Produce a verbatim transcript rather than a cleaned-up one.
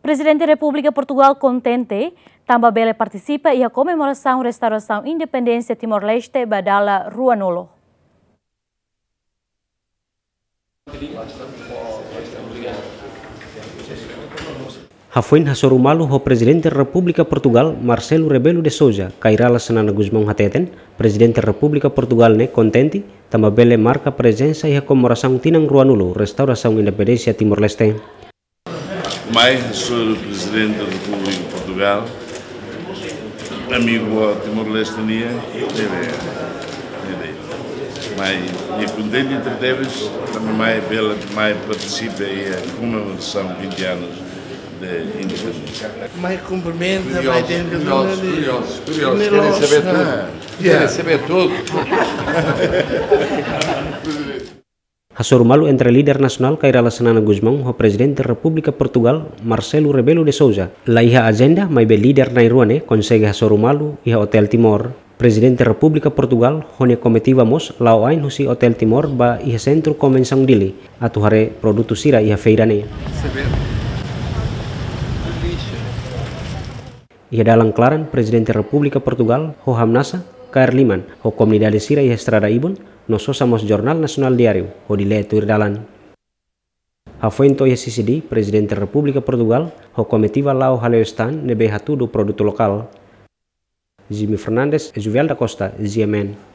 Prezidente Repúblika Portugal kontente tanba bele partisipa iha komemorasaun restaurasaun independénsia Timor-Leste ba dala ruanulu. Hafoin hasoru malu ho Prezidente Repúblika Portugal, Marcelo Rebelo de Sousa, Kay Rala Xanana Gusmão hateten, Prezidente Repúblika Portugal ne'e kontente tanba bele marka prezensa iha komemorasaun tinan ruanulu restaurasaun independénsia Timor-Leste. Mai hasoru Prezidente Repúblika Portugal, amigu Timor-Leste nian, ne'ebé, ne'ebé. Mai, nia kontente tebes, tanba mai bele, mai partisipa iha komemorasaun vinte anos de independénsia. Mai kumprimenta, mai Curiosos, tende curiosos, duna de curiosos, curiosos, querem saber tudo. Ah, querem saber tudo. Hasoru malu entre líder nasionál Kay Rala Xanana Gusmão ho Prezidente Repúblika Portugal, Marcelo Rebelo de Sousa, la iha ajenda, maibé líder na'in-rua ne'e konsege hasoru malu iha Hotel Timor. Prezidente Repúblika Portugal ho nia komitiva mós la'o ain husi Hotel Timor ba iha Sentru Konvensaun Dili, atu haree produtu sira iha feira ne'e. Iha dalan klaran, Prezidente Repúblika Portugal ho hamnasa kaer liman ho komunidade sira iha estrada ibun, no sosa mós jornál nasionál diáriu hodi lee tuir dalan. Hafoin to'o iha C C D, Prezidente Repúblika Portugal ho komitiva la'o hale'u stand ne'ebé hatudu produtu lokál. Jimmy Fernandes, Juvial da Costa, G M N.